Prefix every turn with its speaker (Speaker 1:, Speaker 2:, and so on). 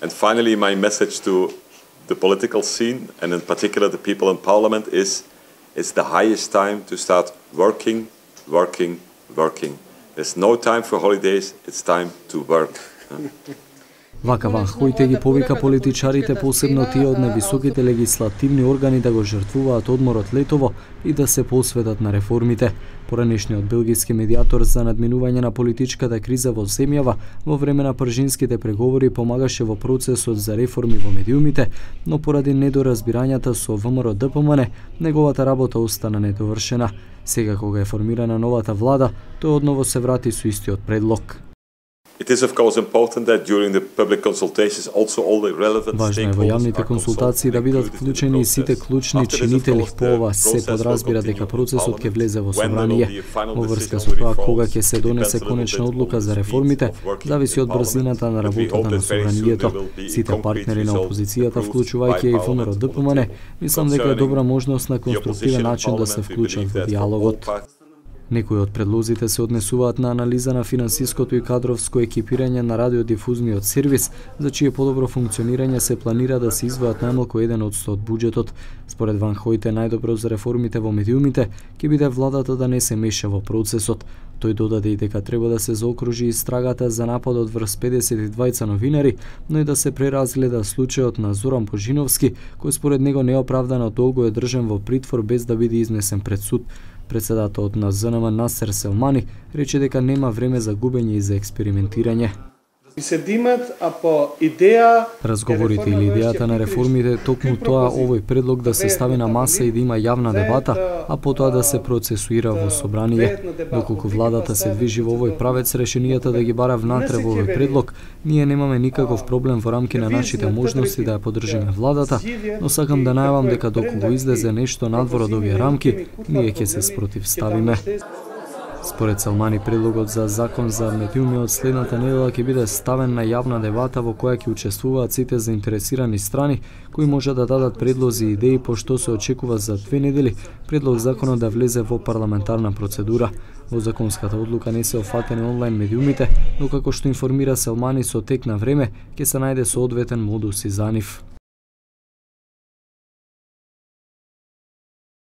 Speaker 1: And finally, my message to the political scene, and in particular the people in parliament, is it's the highest time to start working. There's no time for holidays, it's time to work.
Speaker 2: Вака Ван Хојте ги повика политичарите, посебно тие од највисоките легислативни органи, да го жртвуваат одморот летово и да се посветат на реформите. Поранешниот белгиски медиатор за надминување на политичката криза во земјава во време на пржинските преговори помагаше во процесот за реформи во медиумите, но поради недоразбирањата со ВМРО-ДПМН, неговата работа остана недовршена. Сега кога е формирана новата влада, тој одново се врати со истиот предлог.
Speaker 1: It is of course important that during the public consultations also all the relevant
Speaker 2: Важно е во јавните консултации да бидат вклучени и сите клучни чинители. По ова се подразбира дека процесот ќе влезе во собрание. Во врска со тоа кога ќе се донесе конечна одлука за реформите, зависи од брзината на работата на собранието. Сите партнери на опозицијата, вклучувајќи и ВМРО-ДПМН, мислам дека е добра можност на конструктивен начин да се вклучат во диалогот. Некои од предлозите се однесуваат на анализа на финансиското и кадровско екипирање на радиодифузниот сервис, за чие подобро функционирање се планира да се издвојат најмалку 1% од буџетот. Според Ван Хојте, најдобро за реформите во медиумите ќе биде владата да не се меша во процесот. Тој додаде и дека треба да се заокружи истрагата за нападот врз 52 новинари, но и да се преразгледа случајот на Зоран Божиновски, кој според него неоправдано долго е држан во притвор без да биде изнесен пред суд. Председателот на ЗНМ Насер Селмани рече дека нема време за губење и за експериментирање. Разговорите или идејата на реформите токму тоа овој предлог да се стави на маса и да има јавна дебата, а потоа да се процесуира во собрание. Доколку владата се движи во овој правец, решенијата да ги бара внатре во овој предлог, ние немаме никаков проблем во рамки на нашите можности да ја поддржиме владата, но сакам да најавам дека доколку излезе нешто надвор од овие рамки, ние ќе се спротивставиме. Според Салмани, предлогот за закон за медиумиот следната недела ќе биде ставен на јавна дебата во која ќе учествуваат сите заинтересирани страни, кои може да дадат предлози и идеи, пошто се очекува за 2 недели предлог законот да влезе во парламентарна процедура. Во законската одлука не се офатени онлайн медиумите, но како што информира Салмани, со тек на време ќе се најде соодветен модус и за нив.